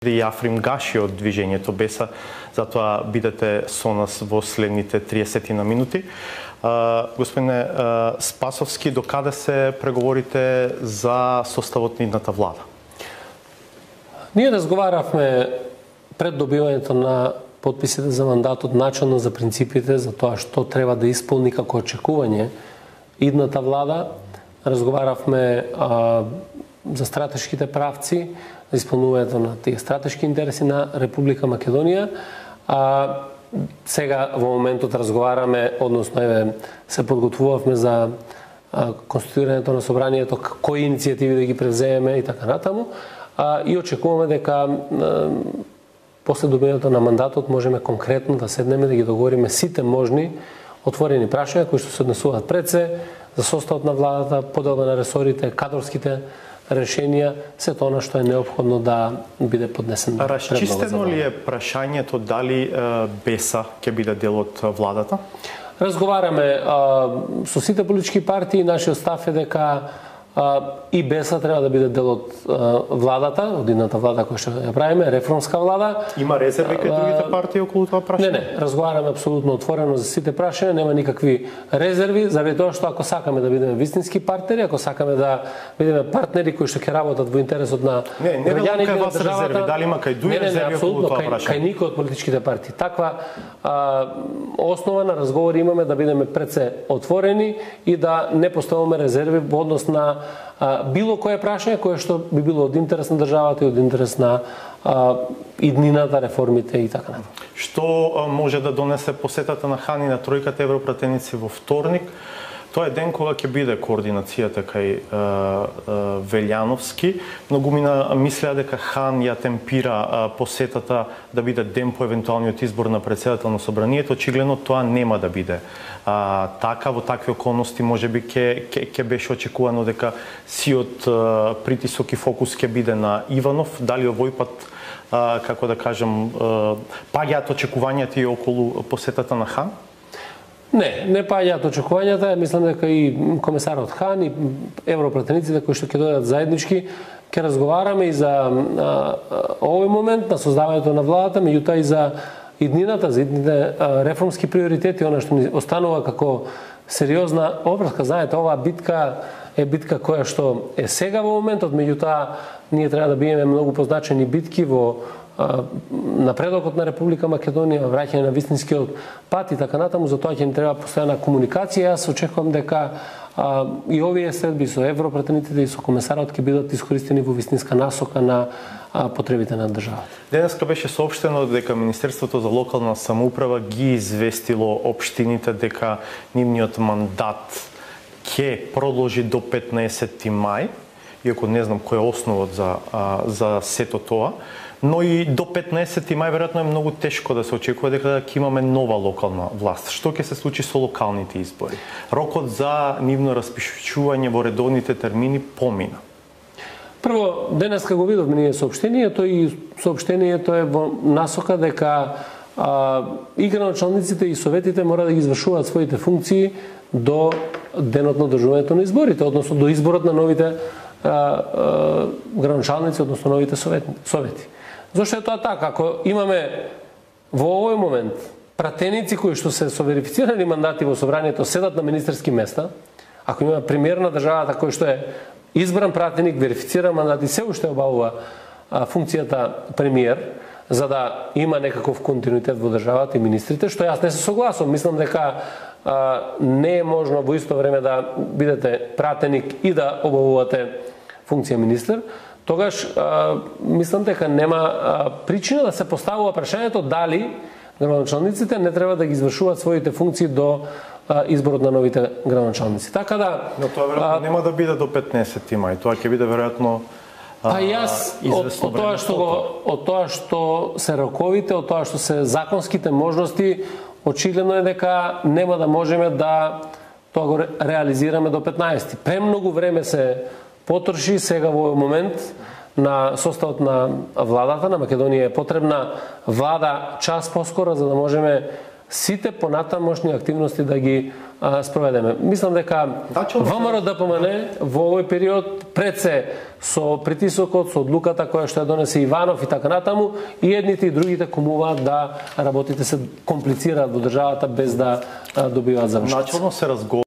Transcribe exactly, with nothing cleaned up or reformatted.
И Африм Гаши од движењето Беса, затоа бидете со нас во следните триесет на минути. Uh, господине uh, Спасовски, докаде се преговорите за составот на идната влада? Ние разговаравме пред добивањето на подписите за мандатот начелно за принципите за тоа што треба да исполни како очекување идната влада. Разговаравме а, за стратешките правци, за исполнувањето на тие стратешки интереси на Република Македонија. А, сега во моментот разговараме, односно еве се подготвувавме за а, конституирањето на собранието, кои иницијативи да ги превземеме и така натаму. А, и очекуваме дека а, после добивањето на мандатот можеме конкретно да седнеме да ги договориме сите можни отворени прашања кои што се однесуваат пред се за составот на владата, поделба на ресорите, кадрските решенија, се тоа што е неопходно да биде поднесено. Расчистено ли е прашањето дали е, Беса ќе биде дел од владата? Разговараме а, со сите политички партии, нашиот став е дека а, и Беса треба да биде дел од а, владата, од идната влада која што ја правиме, реформска влада. Има резерви кај другите партии околу тоа прашање? Не, не, разговараме апсолутно отворено за сите прашања, нема никакви резерви, заради тоа што ако сакаме да бидеме вистински партнери, ако сакаме да бидеме партнери кои што ќе работат во интересот на граѓаните на државата, резерви, дали има кај дуи резерви околу тоа прашање? Кај никој од политичките партии. Таква а, основа на разговори имаме да бидеме пред се отворени и да не поставуваме резерви во однос на а, било кое прашање кое што би било од интерес на државата и од интерес на а, иднината, реформите и така натаму. Што а, може да донесе посетата на Хан и на тројката европратеници во вторник? Тоа е ден кога ќе биде координацијата кај а, а, Велјановски. Многумина мислеа дека Хан ја темпира а, посетата да биде ден по евентуалниот избор на председател на собранието. Очигледно тоа нема да биде а, така. Во такви околности можеби ќе ќе беше очекувано дека сиот а, притисок и фокус ќе биде на Иванов. Дали овој пат а, како да кажам а, паѓаат очекувањата и околу посетата на Хан? Не, не паѓаат очекувањата. Мислам дека и комесарот Хан и европратениците кои што ќе дојдат заеднички ќе разговараме и за а, а, овој момент на создавањето на владата, меѓутоа и за иднината, за идните а, реформски приоритети, она што ни останува како сериозна обврска. Знаете, оваа битка е битка која што е сега во моментот, меѓутоа ние треба да биеме многу позначени битки во напредокот на Република Македонија, враќање на вистинскиот пат и така натаму, затоа ќе ни треба постојана комуникација. Јас очекувам дека а, и овие средби со европратениците и со комесарот ќе бидат искористени во вистинска насока на а, потребите на државата. Денеска беше соопштено дека Министерството за локална самоуправа ги известило општините дека нивниот мандат ќе продолжи до петнаесети мај, иако не знам кој е основот за, а, за сето тоа. Но и до петнаесети мај веројатно е многу тешко да се очекува дека ќе имаме нова локална власт. Што ќе се случи со локалните избори? Рокот за нивно распишување во редовните термини помина. Прво, денеска го видовме ние соопштението и соопштението е во насока дека а, и граначалниците и советите мора да ги извршуваат своите функции до денот на одржувањето на изборите, односно до изборот на новите а, а, граначалници, односно новите совети. Зошто е тоа така? Ако имаме во овој момент пратеници кои што се со верифицирани мандати во собранието седат на министерски места, ако имаме премиер на државата кој што е избран пратеник, верифициран мандат и се уште обавува а, функцијата премиер, за да има некаков континуитет во државата и министрите, што јас не се согласувам. Мислам дека а, не е можно во исто време да бидете пратеник и да обавувате функција министер. Тогаш а, мислам дека нема а, причина да се поставува прашањето дали градоначалниците не треба да ги извршуваат своите функции до а, изборот на новите градоначалници. Така да Но тоа веројатно а, нема да биде до петнаесети мај, тоа ќе биде веројатно а, па јас од, од тоа што го, од тоа што се роковите, од тоа што се законските можности, очигледно е дека нема да можеме да тоа го реализираме до петнаесети. Премногу време се потроши сега во момент на составот на владата. На Македонија е потребна влада час поскоро за да можеме сите понатамошни активности да ги а, спроведеме. Мислам дека ВМРО ДПМН во овој период пред се со притисокот, со одлуката која што ја донесе Иванов и така натаму, и едните и другите комуваат да работите се комплицираат во државата без да а, добиваат завршоци. Начално се разговара